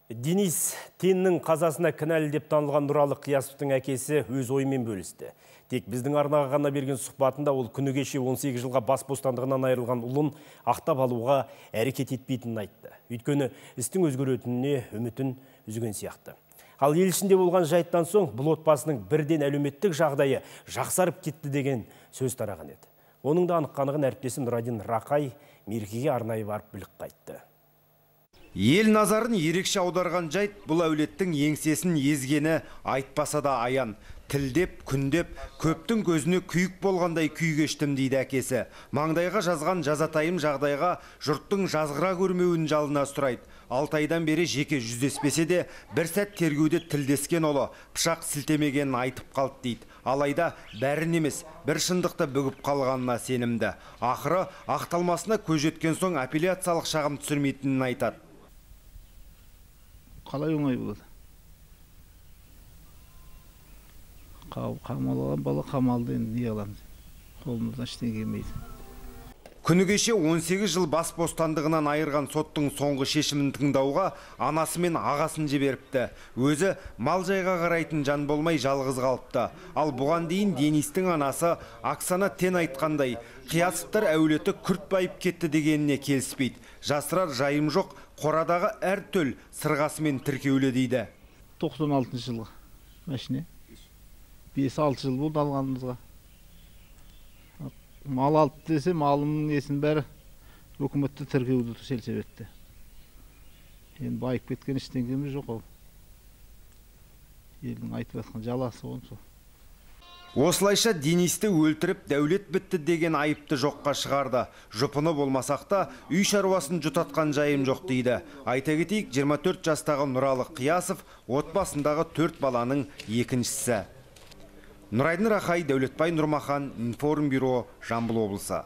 Денис Теннің қазасына кінәлі деп танылған Нұралы Қиясовтың әкесі өз ойымен бөлісті. Тек біздің арнаға ғана берген сұхбатында ол күні кеше 18 жылға бас бостандығынан айырылған ұлын ақтап алуға әрекет етпейтінін айтты. Өйткені істің өзгеретініне үмітін үзген сияқты. Ал ел ішінде болған жайттан соң бұл отбасының бірден әлеуметтік жағдайы жақсарып кетті деген сөз тараған еді. Оның да анық-қанығын әріптесім Нұрадин Рақай мерекеге арнайы барып біліп қайтты. Ел назарын ерекше аударған жайт бұл әулеттің еңсесін езгені айтпаса да аян. Тілдеп, күндеп, көптің көзіне күйік болғандай күй кештім дейді әкесі. Маңдайға жазған жазатайым жағдайға жұрттың жазғыра көрмеуін жалына сұрайды. 6 айдан бері жеке жүздеспесе де, бір сәт тергеуде тілдескен олы пышақ сілтемегенін айтып қалды дейді. Алайда бәрін емес, бір шындықты бүгіп қалғанына сенімді. Ақыры ақталмасына көз жеткен соң апелляциялық шағым түсірмейтінін айтады. Қалай оңай болады? Қамалған бала қамалды, енді не аламыз? Қолымыздан ештеңе келмейді. Күні кеше 18 жыл бас бостандығынан айырған соттың соңғы шешімін тыңдауға анасы мен ағасын жіберіпті. Өзі мал жайға қарайтын жан болмай жалғыз қалыпты. Ал бұған дейін Денистің анасы Оксана Тен айтқандай, Қиясовтар әулеті күрт байып кетті дегеніне келіспейді. Жасырар жайым жоқ, қорадағы әр төл сырғасымен тіркеулі дейді. 96 жылғы мәшіне. 5-6 жыл болды алғанымызға. Мал алды десе, малымның несін бәрі өкіметті тіркеуді селсебетті. Енді байып кеткен ештеңеміз жоқ ол. Елдің айтып жатқан жаласы оны сол. Осылайша Денисті өлтіріп дәулет бітті деген айыпты жоққа шығарды. Жұпыны болмасақ та үй шаруасын жұтатқан жайым жоқ дейді. Айта кетейік, 24 жастағы Нұралы Қиясов отбасындағы 4 баланың екіншісі. Нұрайдын Рақай, Дәулетбай Нұрмахан, Информбюро, Жамбыл облысы.